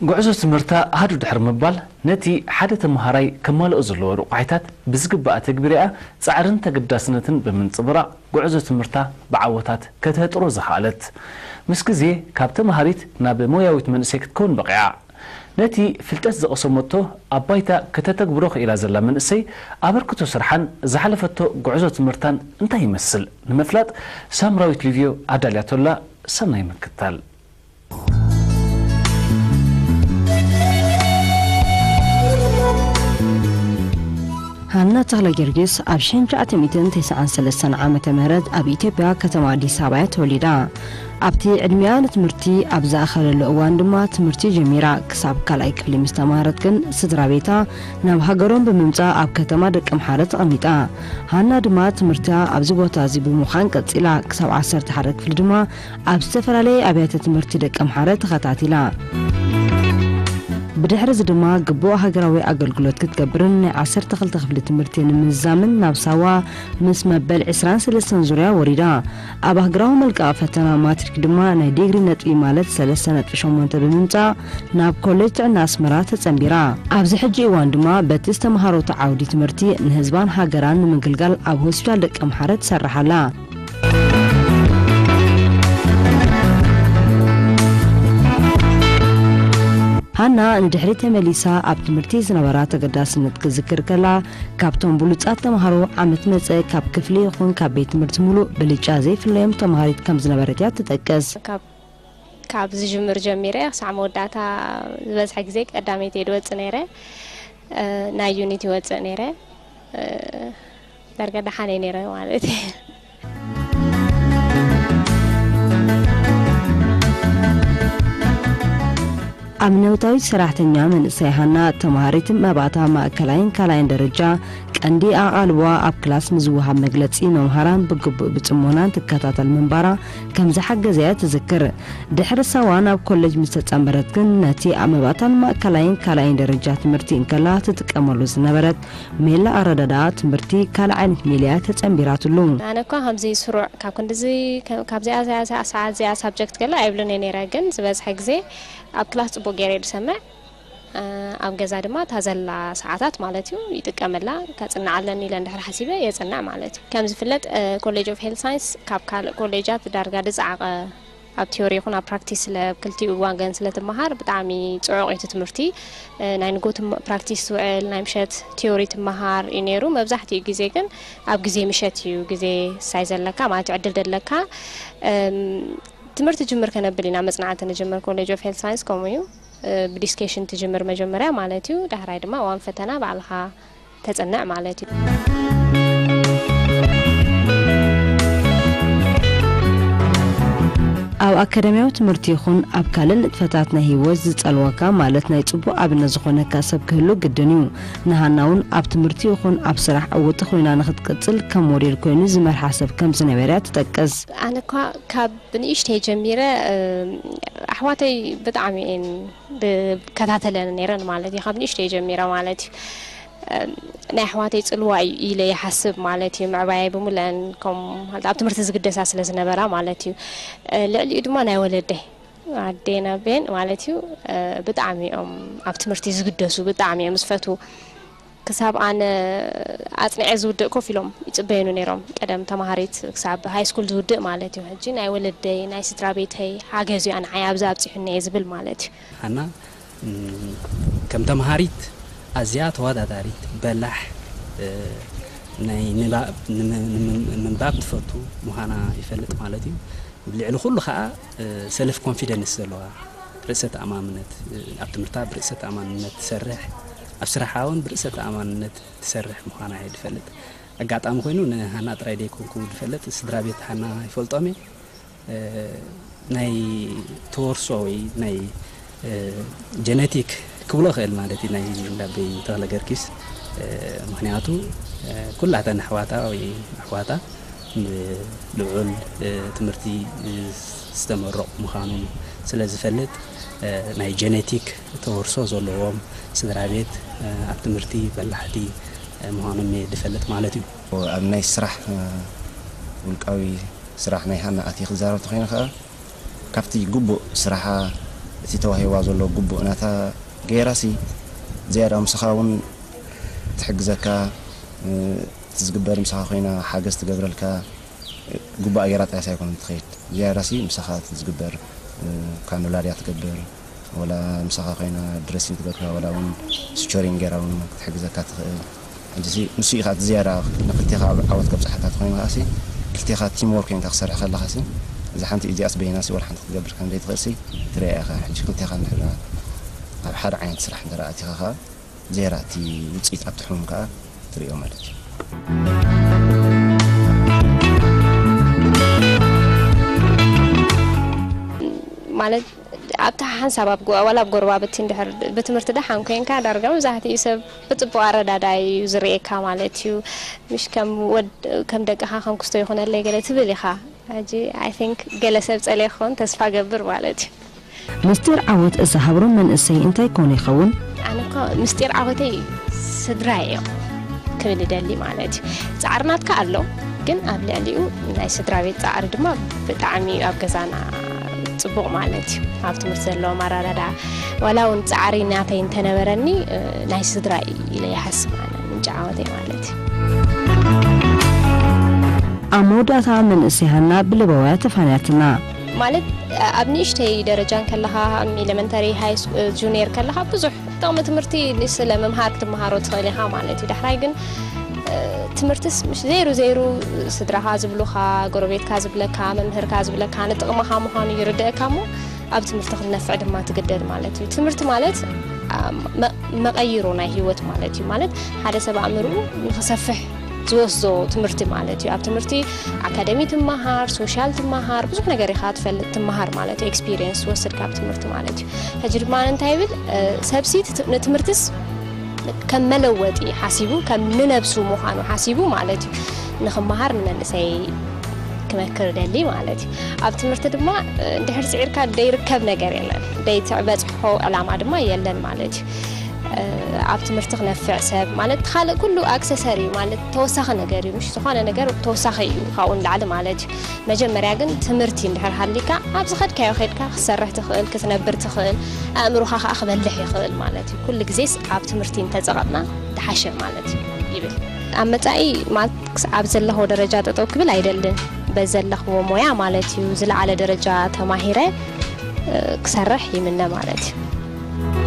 ጉዕዞ ትምህርታ ሃዱ ድሕሪ ምባል፣ ነቲ ሓደ ተመሃራይ ከማልኦ ዘለዎ ረቋሒታት ብዝግባእ ኣተግቢራ'ያ ጻዕርን ተገዳስነትን ብምንጽብራቕ፣ ጉዕዞ ትምህርታ ብዓወታት ከተህጥሮ ዝኸኣለት። ምስ ግዜ፣ ካብ ተመሃሪት ናብ ሞያዊት መንእሰይ ክትከውን በቒዓ። ነቲ ፍልጠት ዝቐሰመቶ ኣብ ባይታ ከተተግብሮ ክኢላ ዘላ መንእሰይ፣ ኣበርክቶ ስርሓን ዝሓለፈቶ ጉዕዞ ትምህርታን እንታይ ይመስል ንምፍላጥ፣ ሳምራዊት ሊቭዮ ኣዳልያቶላ። ሰናይ ምክታል። ሃና ተኽለጊዮርጊስ ኣብ ሽሕን ትሽዓተ ሚእትን ተስዓን ሰለስተን ዓመተ ምህረት ኣብ ኢትዮጵያ ከተማ ኣዲስ ኣበባ እያ ተወሊዳ። ኣብቲ ዕድሚኣ ንትምህርቲ ኣብ ዝኣኸለሉ እዋን ድማ ትምህርቲ ጀሚራ። ክሳብ ካልኣይ ክፍሊ ምስ ተማሃረት ግን ስድራ ቤታ ናብ ሃገሮም ብምምጻእ ኣብ ከተማ ደቀምሓረ ተቐሚጣ። ሃና ድማ ትምህርታ ኣብዚ ቦታ እዚ ብምዃን ቀጺላ። ክሳብ ዓሰርተ ሓደ ክፍሊ ድማ ኣብ ዝተፈላለየ ኣብያተ ትምህርቲ ደቀምሓረ ተኸታቲላ። ብድሕሪ እዚ ድማ ግቡእ ሃገራዊ ኣገልግሎት ክትገብርን ናይ ዓሰርተ ክልተ ክፍሊ ትምህርቲ ንምዝዛምን ናብ ሳዋ ምስ መበል ዕስራን ሰለስተን ዙርያ ወሪዳ። ኣብ ሃገራዊ መልቀቒ ፈተና ማትሪክ ድማ ናይ ዲግሪ ነጥቢ ማለት ሰለስተ ነጥቢ ሸሞንተ ብምምጻእ ናብ ኮሌጅ ጥዕና ኣስመራ ተጸንቢራ። ኣብዚ ሕጂ እዋን ድማ በቲ ዝተምሃረቶ ዓውዲ ትምህርቲ ንህዝባን ሃገራን ንምግልጋል ኣብ ሆስፒታል ደቀምሓረ ትሰርሕ ኣላ። ሃና ንድሕሪት ተመሊሳ ኣብ ትምህርቲ ዝነበራ ተገዳስነት ክዝክር ከላ፣ ካብቶም ብሉጻት ተምሃሮ ዓመት መጸ ካብ ክፍሊ ይኹን ካብ ቤት ትምህርቲ ምሉእ ብልጫ ዘይፍለዮም ተምሃሪት ከም ዝነበረት እያ ትጠቅስ። ካብ ካብ ዝጅምር ጀሚረ ክሳዕ መወዳእታ ዝበዝሐ ግዜ ቀዳመይቲ እየ ዝወጽእ ነይረ። እ፣ ናይ ዩኒት ይወጽእ ነይረ። እ፣ ዳርጋ ደሓን እየ ነይረ ማለት እየ። ኣብነታዊት ሰራሕተኛ መንእሰይ ሃና፣ ተምሃሪት መባእታ ማእከላይን ካልኣይን ደረጃ፣ ቀንዲ ኣቓልቦኣ ኣብ ክላስ ንዝወሃብ መግለጺ መምሃራን ብግቡእ ብጽሞናን ትከታተል ምንባራ ከም ዝሓገዘያ ትዝክር። ድሕሪ ሳዋ ናብ ኮሌጅ ምስ ተጸንበረት ግን፣ ነቲ ኣብ መባእታን ማእከላይን ካልኣይን ደረጃ ትምህርቲ እንከላ ትጥቀመሉ ዝነበረት ሜላ ኣረዳድኣ ትምህርቲ ካልእ ዓይነት ሜላ እያ ተጸንቢራትሉ። ኣነ እኳ ከምዚ ስሩዕ ካብ ክንድዚ፣ ከ-፣ ካብዚኣ፣ እዚኣ፣ እዚኣ፣ ሰዓት እዚኣ ሳብጀክት ገለ ኣይብልን እየ ነይረ፣ ግን ዝበዝሐ ግዜ ኣብ ክላስ ጽቡቕ ገይረ እየ ዝሰምዕ። እ፣ ኣብ ገዛ ድማ እታ ዘላ ሰዓታት ማለት እዩ ይጥቀመላ። ከጽንዓ ኣለኒ ኢለ እንድሕር ሓሲበ የጽንዕ ማለት እዩ። ከም ዝፍለጥ፣ እ፣ ኮሌጅ ኦፍ ሄልት ሳይንስ ካብ ካልእ ኮሌጃት ዳርጋ ዝጸዓቐ፣ ኣብ ቲዮሪ ይኹን ኣብ ፕራክቲስ ስለ፣ ኣብ ክልቲኡ ወገን ስለ ትመሃር ብጣዕሚ ጽዑቕ እዩ እቲ ትምህርቲ። እ፣ ናይ ንጎ ትም-፣ ፕራክቲስ ትውዕል፣ ናይ ምሸት ቲዮሪ ትመሃር እዩ ነይሩ። መብዛሕትኡ ግዜ ግን ኣብ ግዜ ምሸት እዩ ግዜ ሳይ ዘለካ ማለት እዩ፣ ዕድል ዘለካ። እም፣ ትምህርቲ ጅምር ከነብል ኢና፣ መጽናዕቲ ንጅምር። ኮሌጅ ኦፍ ሄልት ሳይንስ ከምኡ እዩ። እ፣ ብዲስኬሽን ትጅምር መጀመርያ ማለት እዩ። ዳሕራይ ድማ እዋን ፈተና ባዕልኻ ተጽንዕ ማለት እዩ። ኣብ ኣካዳሚያዊ ትምህርቲ ይኹን ኣብ ካልእ ንጥፈታት ናይ ህይወት ዝጸልወካ፣ ማለት ናይ ጽቡቕ ኣብነት ዝኾነካ ሰብ ክህሉ ግድን እዩ። ንሃና እውን ኣብ ትምህርቲ ይኹን ኣብ ስራሕ ዕውቲ ኮይና ንኽትቅጽል ከም ሞዴል ኮይኑ ዝመርሓ ሰብ ከም ዝነበረ እያ ትጠቅስ። ኣነ እኳ ካብ ብንእሽተይ ጀሚረ፣ እ፣ ኣሕዋተይ ብጣዕሚ እየን ዝከታተለን ነይረን ማለት እዩ። ካብ ንእሽተይ ጀሚረ ማለት እዩ። እ፣ ናይ ኣሕዋተይ ጽልዋ እዩ ኢለ ይሓስብ ማለት እዩ። ምዕባያይ ብምልአን ከም ኣብ ትምህርቲ ዝግደሳ ስለ ዝነበራ ማለት እዩ። እ፣ ልዕሊኡ ድማ ናይ ወለደይ፣ ኣዴን ኣቤን ማለት እዩ፣ እ፣ ብጣዕሚ እዮም ኣብ ትምህርቲ ዝግደሱ፣ ብጣዕሚ እዮም ዝፈትዉ። ክሳብ ኣነ ኣጽኒዐ ዝውድእ ኮፍ ኢሎም ይጽበዩኒ ነይሮም። ቀደም ተማሃሪት ክሳብ ሃይ ስኩል ዝውድእ ማለት እዩ። ሕጂ ናይ ወለደይ፣ ናይ ስድራ ቤተይ ሓገዝ እዩ ንዓይ ኣብዚ ኣብጺሑኒ እየ ዝብል ማለት እዩ። ሃና፣ እም፣ ከም ተምሃሪት ኣዝያ ተወዳዳሪት፣ በላሕ፣ እ፣ ናይ ንባብ፣ ንም-፣ ንም-፣ ምንባብ ትፈቱ ምዃና ይፈልጥ ማለት እዩ። ልዕሊ ኩሉ ኸኣ፣ እ፣ ሰልፍ ኮንፊደንስ ዘለዋ፣ ርእሰ ተኣማምነት፣ እ፣ ኣብ ትምህርታ ብርእሰ ተኣማንነት ትሰርሕ፣ ኣብ ስራሓ እውን ብርእሰ ተኣማንነት ትሰርሕ ምዃና እየ ዝፈልጥ። ኣጋጣሚ ኮይኑ ንሃና ጥራይ ደይኮንኩ ዝፈልጥ፣ ስድራ ቤት ሃና ይፈልጦም እየ። እ፣ ናይ ተወርሶ ወይ ናይ፣ እ፣ ጀነቲክ ክብሎ እኽእል ማለት እዩ፣ ናይ እንዳበይ ተኽለ ገርጊስ። እ፣ ምኽንያቱ፣ እ፣ ኩላተን ኣሕዋታ ወይ ኣሕዋታ ብልዑል፣ እ፣ ትምህርቲ ዝተመረቑ ምዃኖም ስለ ዝፈልጥ፣ እ፣ ናይ ጀነቲክ ተወርሶ ዘለዎም ስድራ ቤት፣ እ፣ ኣብ ትምህርቲ በላሕቲ፣ እ፣ ምዃኖም እየ ዝፈልጥ ማለት እዩ። ኣብ ናይ ስራሕ፣ እ፣ ውልቃዊ ስራሕ ናይ ሃና ኣትየ ክዛረብ ተኾይነ ከኣ፣ ካብቲ ግቡእ ስራሓ እቲ ተዋሂባ ዘሎ ግቡእ ናታ ገይራሲ ዝያዳ ምሳኻ እውን ትሕግዘካ፣ እቲ ዝግበር ምሳኻ ኮይና ሓገዝ ትገብረልካ፣ ግቡኣ ገይራ ጥራይስ ኣይኮነን ትኸይድ። ዝያዳሲ ምሳኻ እቲ ዝግበር ካኑላ ድያ ትገብር፣ ወላ ምሳኻ ኮይና ድረሲን ትገብርካ፣ ወላ እውን ስቸሪን ገይራ እውን ክትሕግዘካ ትኽእል። ሕጂሲ ንሱ ኢኻ እቲ ዝያዳ ንክልቴኻ ኣብ ዓወት ከብፅሓካ ተኾይኑ ከዓሲ ክልቴኻ ቲም ወርክ ኮይንካ ክሰርሕ ከለኻሲ እዛ ሓንቲ እዚኣስ በይናሲ ወላ ሓንቲ ክትገብር ከም ዘይትኽእልሲ ትሪኣ ኢኻ። ሕጂ ክልቴኻ እንድሕር ኣብ ሓደ ዓይነት ስራሕ እንተ ኣቲኻ ከዓ ዝያዳ እቲ ውፅኢት ኣብቲ ሕሙም ከዓ ትሪኦ ማለት እዩ። ማለት ኣብቲ ሓንሳብ ኣብ ጎ- ዋላ ኣብ ጎረባብቲ እንድሕር ብትምህርቲ ደሓን ኮንካ ዳርጋ መብዛሕትኡ ሰብ ብፅቡቅ ኣረዳዳይ እዩ ዝርእየካ ማለት እዩ። ምሽ ከም ወድ ከም ደቅኻ ከም ክስቶ ይኹነለይ ገለ ትብል ኢኻ። ሕጂ I think ገለ ሰብ ጸልየ ክኸውን ተስፋ ገብር ማለት እዩ። ምስጢር ዓወት እዛ ሃብሮም መንእሰይ እንታይ ኮን ይኸውን? ኣነ እኮ ምስጢር ዓወተይ ስድራይ እዮም ክብል እደሊ ማለት እዩ። ጻዕሪ ናትካ ኣሎ፣ ግን ኣብ ልዕሊኡ ናይ ስድራ ቤት ጻዕሪ ድማ ብጣዕሚ ኣብ ገዛና ጽቡቕ ማለት እዩ። ኣብ ትምህርቲ ዘለዎም ኣረዳዳ ዋላ እውን ጻዕሪ ናተይ እንተነበረኒ ናይ ስድራ ኢለ ይሓስብ ኣነ ምንጪ ዓወተይ ማለት እዩ። ኣብ መወዳእታ መንእሰይ ሃና ብልበውያ ተፋንያትና። ማለት ኣብ ንእሽተይ ደረጃ እንከለኻ ኤለመንተሪ ሃይ ጁኒየር ከለኻ ብዙሕ ጥቕሚ ትምህርቲ ስለ ምምሃር ክትመሃሮ ትኽእል ኢኻ ማለት እዩ። ዳሕራይ ግን ትምህርትስ ምሽ ዘይሩ ዘይሩ ስድራኻ ዝብሉኻ፣ ጎረቤትካ ዝብለካ፣ መምህርካ ዝብለካ ንጥቕምኻ ምዃኑ ይርድእካ እሞ ኣብ ትምህርቲ ክትነፍዕ ድማ ትግደድ ማለት እዩ። ትምህርቲ ማለት መቐይሮ ናይ ህይወት ማለት እዩ። ማለት ሓደ ሰብ ኣእምርኡ ንክሰፍሕ ዝወስዶ ትምህርቲ ማለት እዩ። ኣብ ትምህርቲ ኣካደሚ ትመሃር፣ ሶሻል ትመሃር፣ ብዙሕ ነገር ኢኻ ትፈልጥ ትመሃር ማለት እዩ። ኤክስፒሪየንስ ትወስድ ካብ ትምህርቲ ማለት እዩ። ሕጂ ድማ እንታይ ይብል ሰብሲ ንትምህርትስ ከም መለወጢ ሓሲቡ ከም ንነብሱ ምዃኑ ሓሲቡ ማለት እዩ ንክመሃር ንመንእሰይ ክመክር ደሊ ማለት እዩ። ኣብ ትምህርቲ ድማ እንድሕር ስዒርካ ደይርከብ ነገር የለን፣ ደይትበፅሖ ዕላማ ድማ የለን ማለት እዩ። ኣብ ትምህርቲ ክነፍዕ ሰብ ማለት ካልእ ኩሉ ኣክሰሰሪ እዩ ማለት ተወሳኺ ነገር እዩ። ምሽ ዝኾነ ነገር ተወሳኺ እዩ ካብኡ ንላዕሊ ማለት እዩ። መጀመርያ ግን ትምህርቲ እንድሕር ሃሊካ ኣብ ዝኸድካዮ ከድካ ክትሰርሕ ትኽእል፣ ክትነብር ትኽእል፣ ኣእምሮኻ ከዓ ክበልሕ ይኽእል ማለት እዩ። ኩሉ ግዜስ ኣብ ትምህርቲ እንተፀቐጥና ተሓሸ ማለት እዩ ይብል። ኣብ መፃኢ ማለት ክስዓብ ዘለኹ ደረጃ ጠጠው ክብል ኣይደልን። በዚ ዘለኽዎ ሞያ ማለት እዩ ዝለዓለ ደረጃ ተማሂረ ክሰርሕ ይምነ ማለት እዩ።